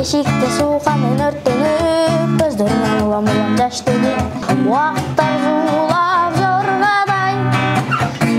Эшикте сууканын өрттөнүп, көздөрүнөн улам-улам жаш төгүп, убакыттар зуулап жоргадай,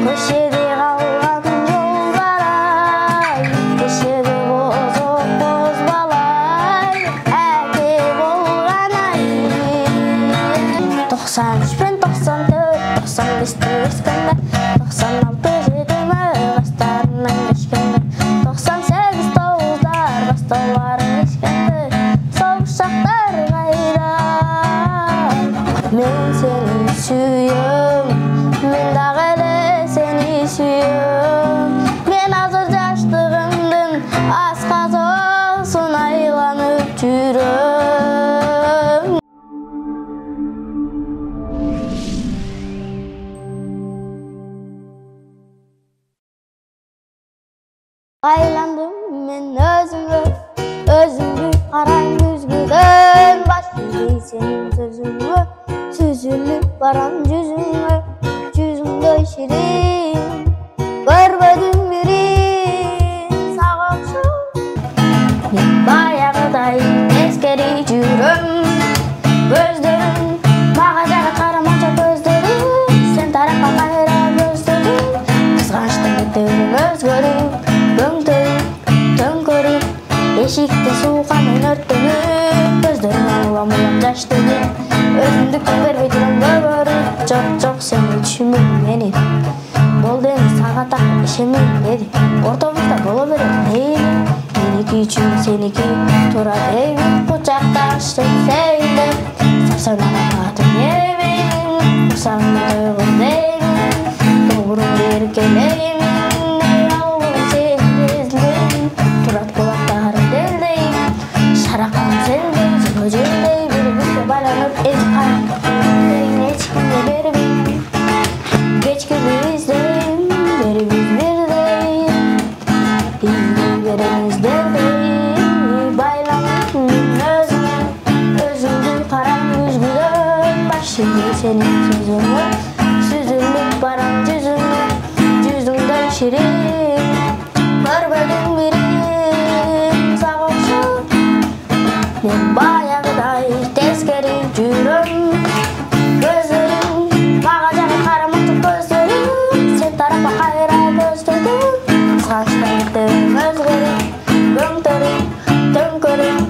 көчөдө калган жолгарай, көчөдө бозок боз балай, әке болган ай. 93 пен 94, 95-те өскөндө, 96 жетиме баштарынан кечкенде, 98 тогуздар башталарын ешкенде, согуш шактар кайда? Мен сени сүйөм, мен дагы эле сени сүйөм. Мен азыр жаштыгымдын асказоосун айланып жүрөм. Айландым мен өзүмгө карайм күзгүдөн, баш ийгей сенин сөзүңө, сүзүлүп барам жүзүңө, жүзүңдөй ширин, көрбөдүм бирин сага окшоп. Мен баягыдай тескери жүрөм, көздөрүм мага жара карамача көздөрүм, сен тарапка кайра көздөрүм, кызганычтан кетебим өзгөрүп, төңкөрүп, эшикте сууканын өрттөнүп, көздөрүнөн улам-улам жаш төгүп, өзүмдүккө бербей турам көгөрүп, жок сени түшүнбөйм мени, болду эми сага так ишенбейм деди, ортобузда боло берет мейли, меники үчүн сеники туура дейбин, кучакташып сейилеп, сарсаңдаган атым эбин, курсагыңда тойгон дейбин, көңүрүңдү эркелеймин. Шаракам сендей, жөндей, бири-бирге байланып эзип карап, эч кимге бербейм, кечкиди издейм, берибиз бирдей, издей беребиз дердей, байланып мен өзүмдү карайм күзгүдөн, баш ийгей сенин сөзүңө, сүзүлүп барам жүзүңө, жүзүңдөй ширин, көрбөдүм бирин сага окшоп. Мен баягыдай тескери жүрөм, көздөрүм мага жара карамача көздөрүм, сен тарапка кайра көздөрүм, кызганычтан кетебим өзгөрүп, төңкөрүп,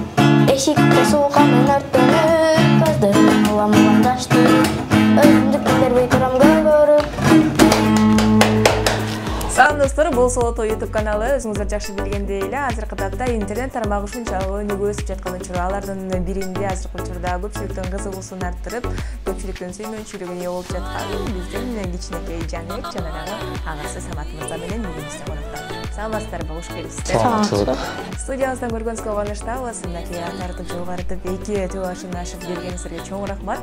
эшикте сууканын өрттөнүп, көздөрүнөн улам-улам жаш төгүп, өзүмдүккө бербей турам көгөрүп. Салам достор, бул Солото YouTube каналы. Өзүңүздөр жакшы билгендей эле, азыркы тапта интернет тармагы ушунчалык өнүгүп өсүп жаткан учур. Алардын биринде азыркы учурда көпчүлүктүн кызыгуусун арттырып, көпчүлүктүн сүймөнчүлүгүнө ие болуп жаткан биздин кичинекей Жаныбек жанагы агасы Самат мырза менен бүгүн бизде конокто. Саламатсыздарбы, кош келипсиздер. Студиябыздан көргөнүзгө кубанычтабыз. Мынакей тартып жогорутуп 2 башын ашып бергениңиздерге чоң рахмат.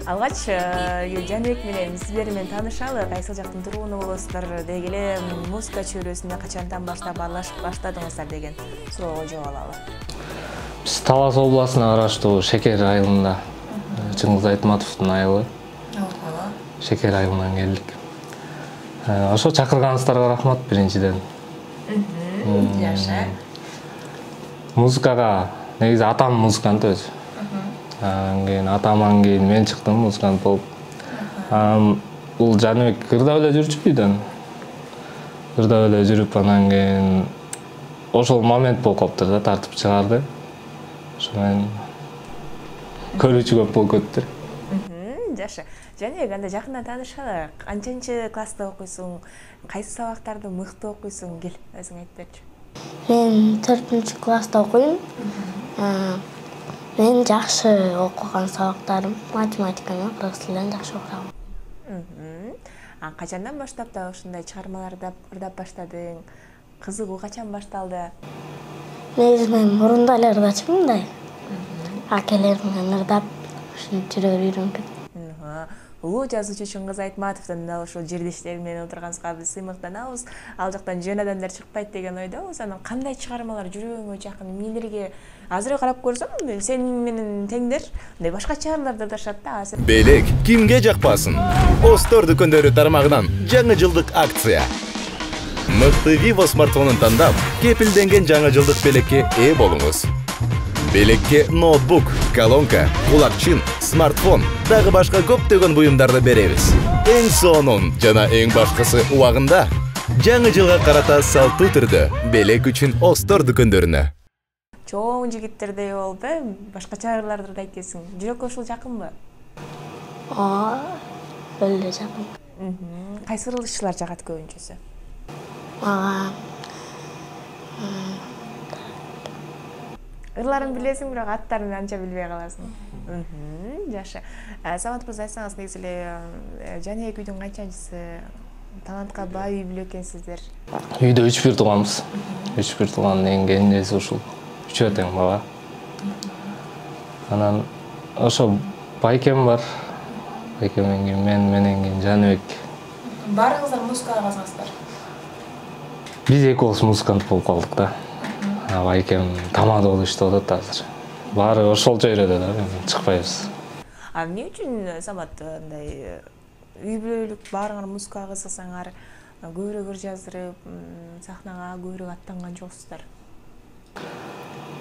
Алгач Жаныбек менен сиздер менен таанышалы, кайсыл жактын тургуну болосуздар, деги эле музыка чөйрөсүнө качантан баштап аралашып баштадыңыздар деген суроого жооп алалы. Биз Талас областына караштуу Шекер айылында, Чыңгыз Айтматовдун айылы. Шекер айылынан келдик. Ошо чакырганыңыздарга рахмат биринчиден. Жакшы. Музыкага негизи атам музыкант өзү. Анан кийин атаман кийин мен чыктым музыкант болуп. Бул Жаныбек кырдап эле жүрчү үйдөн. Кырдап эле жүрүп, анан кийин ошол момент болуп калыптыр да, тартып чыгарды. Ошо менен көрүүчү көп болуп кетти. Жакшы. Жаныбек, анда жакындан таанышалы. Канчанчы класста окуйсуң? Кайсы сабактарды мыкты окуйсуң? Кел, өзүң айтып берчи. Мен 4-класста окуйм. Мен жакшы окуган сабактарым математика менен кыргыз тилин жакшы окуйм. Качандан баштап да ушундай чыгармаларды ырдап баштадың? Кызыгуу качан башталды? Негизи мен мурунда эле ырдачумун да. Акелерим менен ырдап, ушинтип жүрөп үйрөнүп. Улуу жазуучу Чыңгыз Айтматовдун дал ошол жердештери менен отурганыбызга биз сыймыктанабыз. Ал жактан жөн адамдар чыкпайт деген ойдобуз. Анан кандай чыгармалар жүрөгүңө жакын, эмнелерге азыр карап көрсөм, сен менен теңдер мындай башкача ырларды ырдашат да. Белек кимге жакпасын? Остор дүкөндөрү тармагынан жаңы жылдык акция. Мыкты Vivo смартфонун тандап, кепилденген жаңы жылдык белекке ээ болуңуз. Белекке ноутбук, колонка, кулакчын, смартфон, дагы башка көптөгөн буюмдарды беребиз. Эң сонун жана эң башкысы убагында жаңы жылга карата салттуу түрдө белек үчүн Остор дүкөндөрүнө. Чоң жигиттердей болуп, башка чараларды да айтесиң. Жүрөккө ушул жакынбы? Өлө жакын. Кайсы ырылчылар жагат көбүнчөсү? Ырларын билесиң, бирок аттарын анча билбей каласың. Жакшы. Самат мырза, айтсаңыз, негизи эле Жаныбек үйдүн канчанчысы? Талантка бай үй бүлө экенсиздер. Үйдө 3 тууганбыз. 3 туугандын эң кенжеси ушул. 3 тең бала. Анан ошо байкем бар. Байкемден кийин менен кийин Жаныбек. Баарыңыздар музыкага казгансыздар? Биз экөөбүз музыкант болуп калдык да. Байкем тамада болуп иштеп атат азыр. Баары ошолчо үйрөдө да, чыкпайбыз. Эмне үчүн Самат мындай үй бүлөлүк баарыңар музыкага кызыксаңар, көбүрөөк ыр жаздырып, сахнага көбүрөөк аттанган жоксуздар?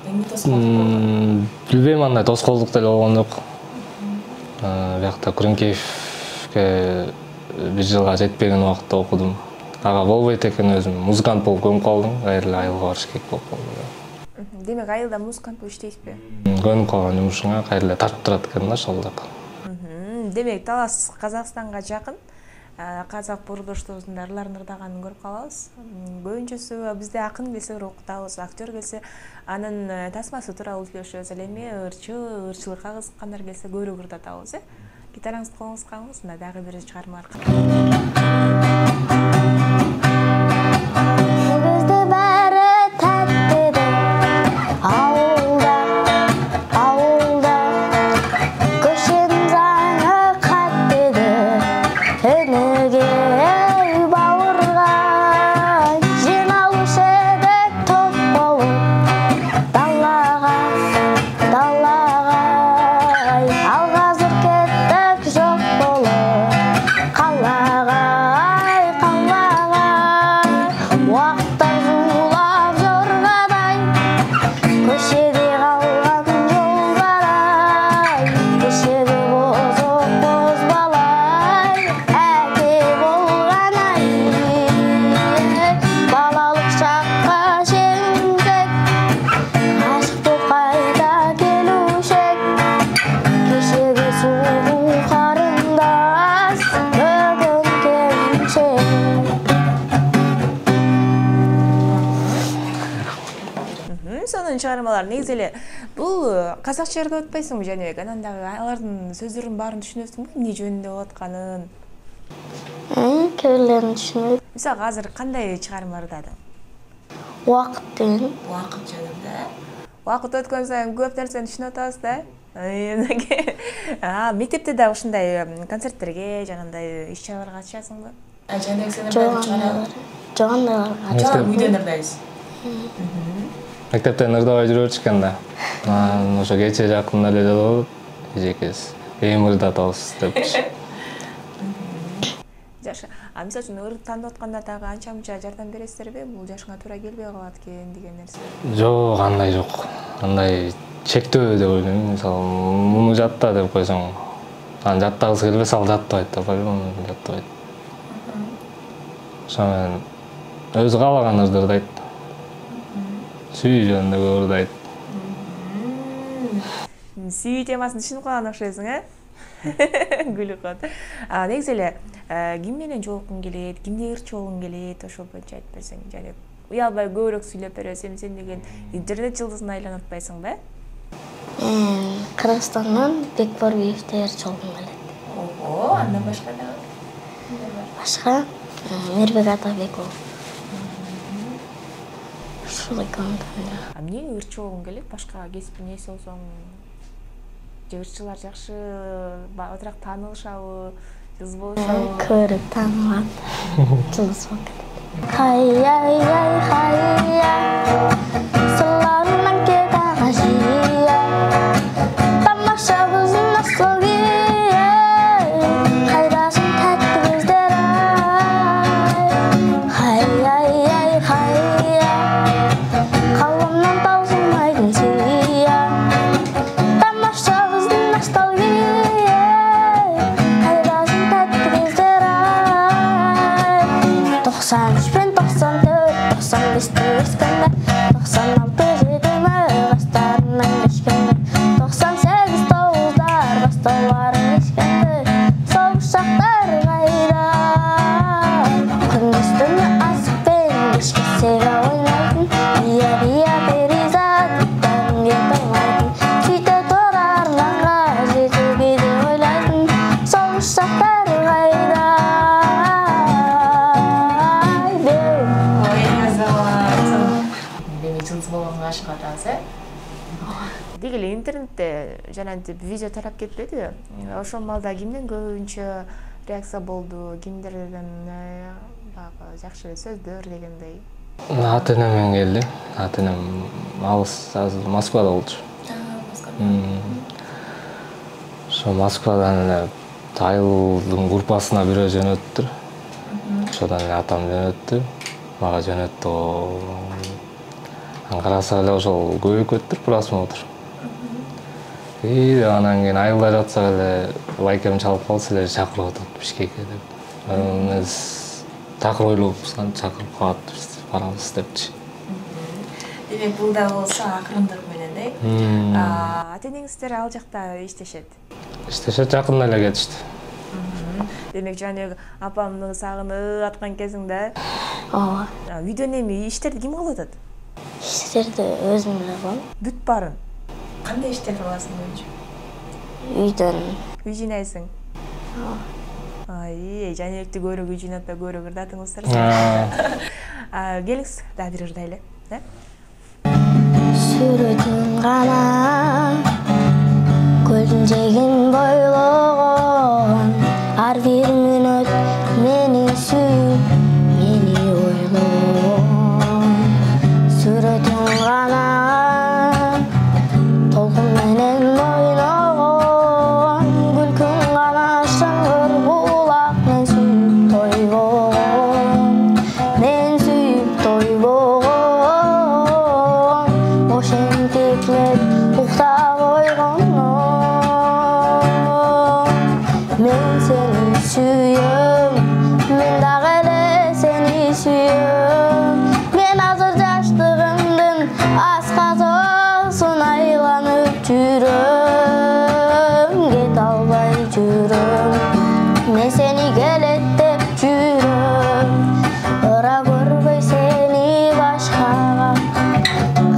Эмне тоскоолдук болгон? Билбейм, андай тоскоолдук деле болгон жок. Биякта Күрүнкеевке 1 жылга жетпеген убакытта окудум. Ага болбойт экен, өзүм музыкант болуп көнүп калдым, кайра эле айылга барыш керек болуп калды. Демек айылда музыкант болуп иштейсизби? Көнүп калган жумушуңа кайра эле тартып турат экен да ошол жака. Демек Талас Казакстанга жакын. Казак бурдошторубуздун ырларын ырдаганын көрүп калабыз. Көбүнчөсү бизде акын келсе окутабыз, актер келсе анын тасмасы тууралуу сүйлөшөбүз. Ал эми ырчылыкка кызыккандар келсе көбүрөөк ырдатабыз, Гитараңызды колуңузга алыңыз, мына дагы бир чыгарма чыгармалар. Негизи эле бул казакча ырдап атпайсыңбы Жаныбек? Анан дагы алардын сөздөрүнүн баарын түшүнөсүңбү? Эмне жөнүндө болуп атканын? Көлөрүн түшүнөт. Мисалы азыр кандай чыгарма ырдадың? Убакыт деген. Убакыт жөнүндө. Убакыт өткөн сайын көп нерсени түшүнүп атабыз да. Мектепте да ушундай концерттерге, жанагындай иш-чараларга катышасыңбы? Жаныбек сен ырдайсың? Жок, андай үйдөн ырдайсыз. Мектептен ырдабай жүрөбүз экен да. Ошо кече жакында эле болуп, эжекебиз эми ырдатабыз деп. Жакшы. Мисалы үчүн ыр тандап атканда дагы анча-мунча жардам бересиздерби? Бул жашыңа туура келбей калат экен деген нерсе. Жок, андай жок. Андай чектөө деп ойлойм. Мисалы, муну жатта деп койсоң, анан жаттагысы келбесе ал жаттабайт да, по-любому жаттабайт. Ошо менен өзү каалаган ырды ырдайт. Сүй жөнүндө көп ырдайт. Сүй темасын түшүнүп калган окшойсуң, Күлүп калат. Негизи эле ким менен жолуккуң келет, кимди ырчы болгуң келет, ошол боюнча айтып берсең, жана уялбай көбүрөөк сүйлөп бересиң, сен деген интернет жылдызына айланып атпайсыңбы? Кыргызстандан Бекборбиевди ырчы болгум келет. Ого, андан башка дагы? Башка Мирбек Атабеков. Ушул экөөндөн. Эмне ырчы болгуң келет? Башка кесиптин ээси болсоң, ырчылар жакшы, батыраак таанылышабы, жылдыз болушабы? Көрүп таанылат. Жылдыз болуп кетет. Хай-яй, сыларынан кетен ажия. Тамашабыздын ностальгия. Кайдасың тәтті көздөр ай. Хай-яй, қаламнан таусылмайтын сия. Балдарың ешкенде соғыш шақтар қайда. Күндіз-түні асық пен кешке сега ойнайтын, бия-бия перизаттан кет алмайтын. Сөйте тұр арманға жетуге де ойлайтын, соғыш шақтар қайда. Жылдыз болгонго ашык атасыз, Деги эле интернетте жанагынтип видео тарап кетпедиби? Ошол маалда кимден көбүнчө реакция болду? Кимдерден баягы жакшы сөздөр дегендей? Ата-энемден келди. Ата-энем алыс, азыр Москвада болчу. Ошо Москвадан эле айылдын группасына бирөө жөнөттүр. Ошодан эле атам жөнөттү. Мага жөнөттү. Караса эле ошол көбөйүп кетти просмотр. Анан кийин айылда жатсак эле лайкем чалып калса эле чакырып атат Бишкекке деп. Эмес такыр ойлопбуз, чакырып калат барабыз депчи. Демек бул да болсо акырындык менен, ата-энеңиздер ал жакта иштешет? Иштешет, жакында эле кетишти. Демек жана апамды сагынып аткан кезиңде? Ооба. Үйдөн эми иштерди ким кылып атат? Иштерди өзүм эле кылам. Бүт баарын. Кандай иштерди кыласың өзү? Үйдөн. Үй жыйнайсың? Ай, Жаныбекти көбүрөөк үй жыйнатпай көбүрөөк ырдатыңыздар. Келиңиз, дагы бир ырдайлы, Сүрөтүн гана көлдүн жээгин бойлогон, ар бир мүнөт мени сүйүп, мени ойлогон. Сүрөтүн гана толкун менен ойногон, күлкүң гана шыңгыр булак, мен сүйүп тойбогон, мен сүйүп тойбогон. Ошентип мен уктап ойгондо, мен сени сүйөм, мен дагы эле сени сүйөм. Мен азыр жаштыгымдын асказосун айланып жүрөм, кете албай жүрөм. Мен сени келет деп жүрөм, ыра көрбөй сени башкага,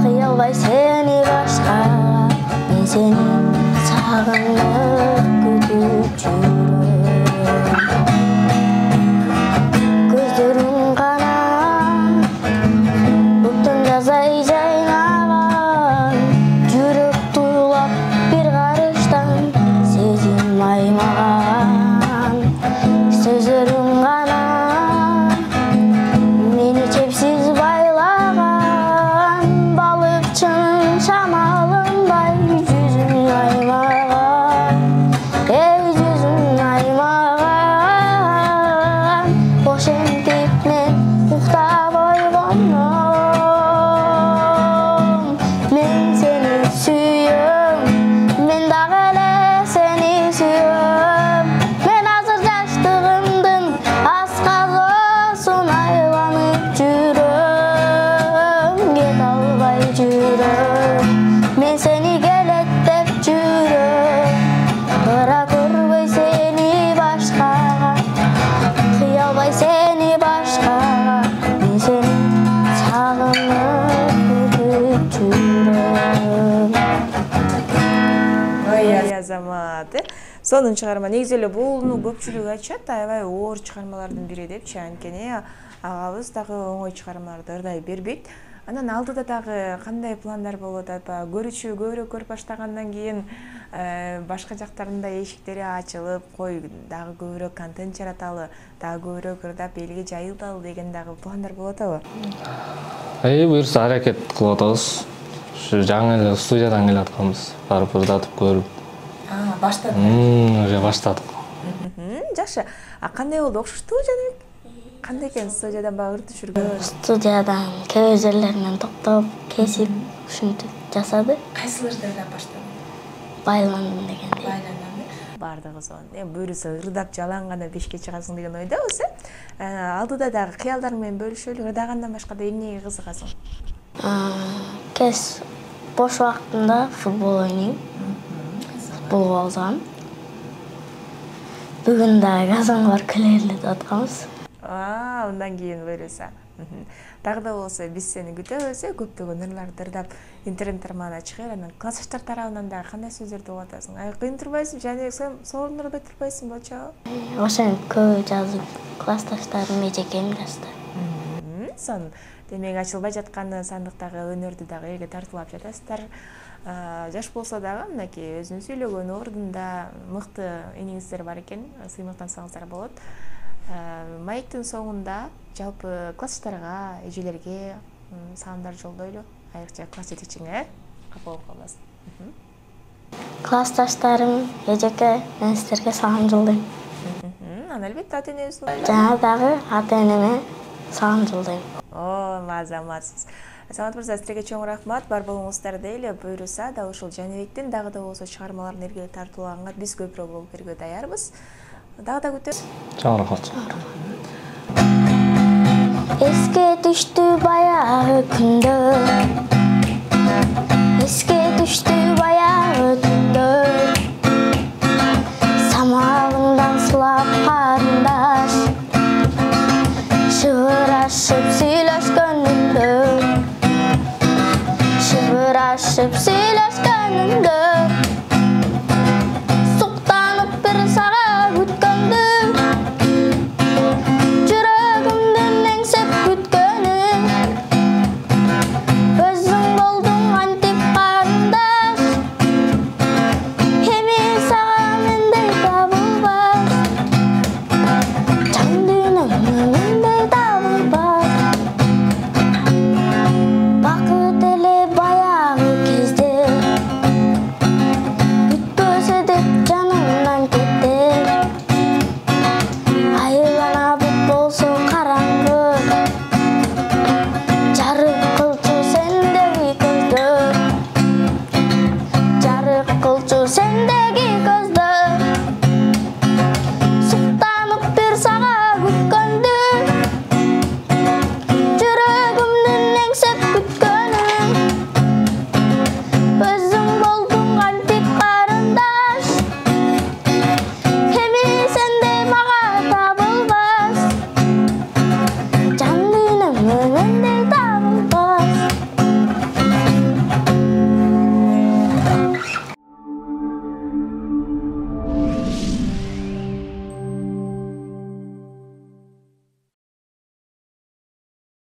кыялбай сени башкага. Мен сени сагынып күтүп жүрөм. Көздөрүң гана буктун жазай жайнаган, жүрөк туйлап бир карыштан сезим аймаган. Сөздөрүң гана мени чепсиз байлаган, балыкчынын шамалындай жүзүң аймаган, жүзүң аймаган. Ошентип мен уктап ойгондо, мен сени сүйөм, мен дагы эле сени сүйөм. Мен азыр жаштыгымдын асказосун айланып жүрөм, кете албай жүрөм. Мен сени келет деп жүрөм, ыра көрбөй сени башкага, кыялбай сени башкага. Мен сени сагынып күтүп жүрөм. Ой, азамат. Сонун чыгарма. Негизи эле буну көпчүлүк айтышат, аябай оор чыгармалардын бири депчи. Анткени агабыз дагы оңой чыгармаларды ырдай бербейт. Анан алдыда дагы кандай пландар болуп атат? Көрүүчү көбүрөөк көрүп баштагандан кийин башка жактарында эшиктери ачылып, кой дагы көбүрөөк контент жараталы, дагы көбүрөөк ырдап элге жайылталы деген дагы пландар болуп атабы? Буюрса аракет кылып атабыз. Ушу жаңы эле студиядан келе атканбыз. Барып ырдатып көрүп. Баштадыңыз? Уже баштадык. Жакшы. Кандай болду? Окшоштубу Жаныбек? Кандай экен студиядан багы ырдап жүргөн? Студиядан кээ жерлеринен токтоп, кесип, ушинтип жасады. Кайсы ырдардан баштадың? Байландым дегендей. Байланам. Бардыгы сонун. Буюрса ырдап жалаң гана бешке чыгасың деген ойдобуз, Алдыда дагы кыялдарың менен бөлүшөлү. Ырдагандан башка да эмнеге кызыгасың? Бош убактымда футбол ойнойм. Футболго алсам. Бүгүн дагы Казанга келели деп атканбыз. Андан кийин буюрса. Дагы да болсо биз сени күтөбүз, көптөгөн ырларды ырдап интернет тармагына чыгып, анан классташтар тарабынан дагы кандай сөздөрдү угуп атасың? Кыйын турбайсыңбы? Жана сен сооронду ырдап турбайсыңбы болчу? Ошону көп жазып, классташтарым эжекем жазды. Сон демек ачылбай жаткан сандыктагы өнөрдү дагы элге тартуулап жатасыздар. Жаш болсо дагы мынакей өзүнүн сүйлөгөн ордунда мыкты иниңиздер бар экен, сыймыктансаңыздар болот. Маектин соңунда жалпы классташтарга, эжелерге саламдар жолдойлу. Айрыкча класс жетекчиңе капа болуп калбасын. Классташтарым, эжеке, мен силерге салам жолдойм. Анан албетте ата-энебиз. Жана дагы ата-энеме салам жолдойм. Мазаматсыз. Самат мырза, силерге чоң рахмат. Бар болуңуздар дейли. Буюрса да ушул Жаныбектин дагы да болсо чыгармаларын элге тартуулаганга биз көбүрөөк болуп берүүгө даярбыз. Дагы да күтөбүз. Чоң рахмат. Эске түштү баягы күндөр. Эске түштү баягы